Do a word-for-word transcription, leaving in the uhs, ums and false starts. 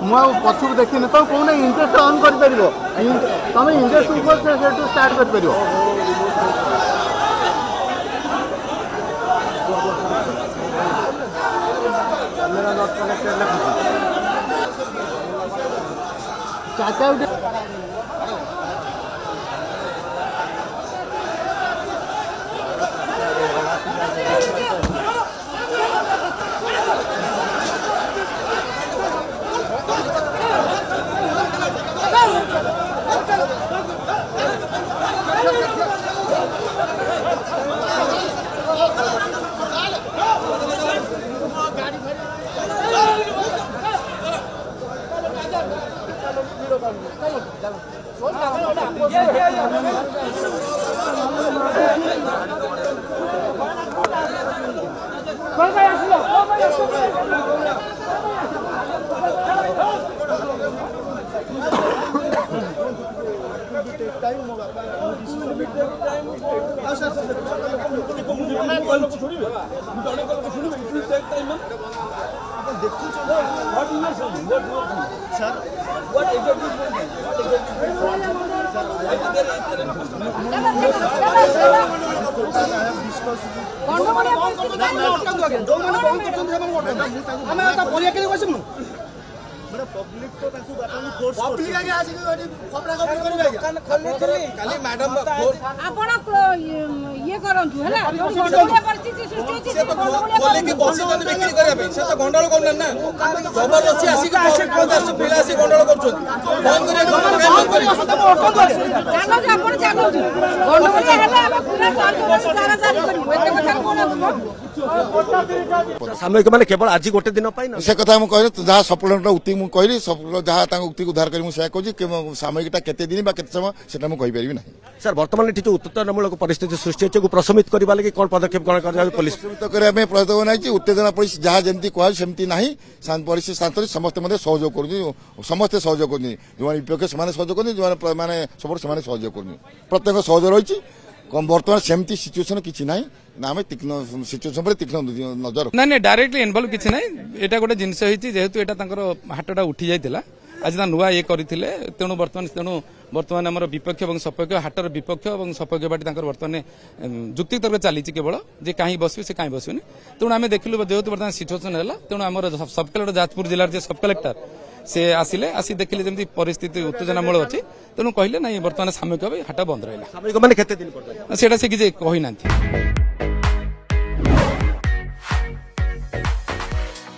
ମୁଁ ଆଉ ପଛକୁ ଦେଖିନି। ତମେ କହୁନା, ଇଣ୍ଟରେଷ୍ଟ ଅନ୍ କରିପାରିବ, ତମେ ଇଣ୍ଟରେଷ୍ଟ ଉପରେ ସେଠୁ ଷ୍ଟାର୍ଟ କରିପାରିବ। କ୍ୟାମେରା not connected ଲେଖୁଛି। ଚାରିଟା ଗୋଟେ। ଆମେ ତା ପରିବା କେମିତି ବସିବୁନୁ? ଆପଣ ଇଏ କରନ୍ତୁ, ହେଲା ଗଣ୍ଡଗୋଳିଆ ପରିସ୍ଥିତି ସୃଷ୍ଟି ହେଇଛି। ସେ ତ ଖୋଲିକି ବସିଛନ୍ତି ବିକ୍ରି କରିବା ପାଇଁ, ସେ ତ ଗଣ୍ଡଗୋଳ କରୁନାହାନ୍ତି ନା। ଜବରଦସ୍ତି ଆସିକି ପିଲା ଆସି ଗଣ୍ଡଗୋଳ କରୁଛନ୍ତି। ବନ୍ଦ କରିବାକୁ କାଇଁ ବନ୍ଦ କରିବେ? ଚାଲନ୍ତୁ, ଆପଣ ଚାଲନ୍ତୁ। ଗଣ୍ଡଗୋଳିଆ ହେଲେ ଆମେ ପୁରା ସାରା ଜାରି କରିବୁ। ଏତେ କଥା କଣ ଅଛି? ସାମୟିକ ମାନେ କେବଳ ଆଜି ଗୋଟେ ଦିନ ପାଇଁ ନା? ସେ କଥା ମୁଁ କହିଲି, ଯାହା ସପ୍ଲିମେଣ୍ଟ ଉକ୍ତି ମୁଁ କହିଲି, ଯାହା ତାଙ୍କ ଉକ୍ତିକୁ ଉଦ୍ଧାର କରି ମୁଁ ସେୟା କହୁଛି। ସାମୟିକଟା କେତେ ଦିନ ବା କେତେ ସମୟ, ସେଟା ମୁଁ କହିପାରିବି ନାହିଁ। ସାର୍, ବର୍ତ୍ତମାନ ଏଠି ଯୋଉ ଉତ୍ତେଜନାମୂଳକ ପରିସ୍ଥିତି ସୃଷ୍ଟି ହେଇଛି, ପ୍ରଶମିତ କରିବା ଲାଗି କଣ ପଦକ୍ଷେପ ଗ୍ରହଣ କରାଯାଉଛି ପୋଲିସ? ପ୍ରଶମିତ କରିବା ପାଇଁ ପଦକ୍ଷେପ ନେଇଛି। ଉତ୍ତେଜନା ପରିସ୍ଥିତି ଯାହା ଯେମିତି କୁହାଯାଉଛି ସେମିତି ନାହିଁ। ପରିସ୍ଥିତି ଶାନ୍ତ, ସମସ୍ତେ ମଧ୍ୟ ସହଯୋଗ କରୁଛନ୍ତି। ସମସ୍ତେ ସହଯୋଗ କରୁଛନ୍ତି। ଯେଉଁମାନେ ବିପକ୍ଷ ସେମାନେ ସହଯୋଗ କରୁଛନ୍ତି, ଯେଉଁମାନେ ମାନେ ସପୋର୍ଟ ସେମାନେ ସହଯୋଗ କରୁଛନ୍ତି। ପ୍ରତ୍ୟେକ ସହଯୋଗ ରହିଛି। ବର୍ତ୍ତମାନ ସେମିତି ସିଚୁଏସନ କିଛି ନାହିଁ ନା, ଆମେ ତୀକ୍ଷ୍ଣ ସିଚୁଏସନ ଉପରେ ତୀକ୍ଷ୍ଣ ନଜର। ନାଇଁ ନାଇଁ, ଡାଇରେକ୍ଟଲି ଇନଭଲ୍ଭ କିଛି ନାହିଁ। ଏଇଟା ଗୋଟେ ଜିନିଷ ହେଇଛି, ଯେହେତୁ ଏଇଟା ତାଙ୍କର ହାଟଟା ଉଠି ଯାଇଥିଲା, ଆଜି ତା ନୂଆ ଇଏ କରିଥିଲେ। ତେଣୁ ବର୍ତ୍ତମାନ ତେଣୁ ବର୍ତ୍ତମାନ ଆମର ବିପକ୍ଷ ଏବଂ ସପକ୍ଷ, ହାଟର ବିପକ୍ଷ ଏବଂ ସପକ୍ଷ ପାର୍ଟି ତାଙ୍କର ବର୍ତ୍ତମାନ ଯୁକ୍ତିତର୍କ ଚାଲିଛି କେବଳ ଯେ କାହିଁ ବସିବେ, ସେ କାହିଁ ବସିବେନି। ତେଣୁ ଆମେ ଦେଖିଲୁ ଯେହେତୁ ବର୍ତ୍ତମାନ ସିଚୁଏସନ ହେଲା, ତେଣୁ ଆମର ସବ୍ କଲେକ୍ଟର, ଯାଜପୁର ଜିଲ୍ଲାର ଯେ ସବ୍ କଲେକ୍ଟର, ସେ ଆସିଲେ। ଆସି ଦେଖିଲେ ଯେମିତି ପରିସ୍ଥିତି ଉତ୍ତେଜନାମୂଳ ଅଛି, ତେଣୁ କହିଲେ ନାଇଁ, ବର୍ତ୍ତମାନ ସାମୟିକ ଭାବେ ହାଟ ବନ୍ଦ ରହିଲା। ସାମୟିକ ମାନେ କେତେ ଦିନ? ସେଇଟା ସେ କିଛି କହିନାହାନ୍ତି।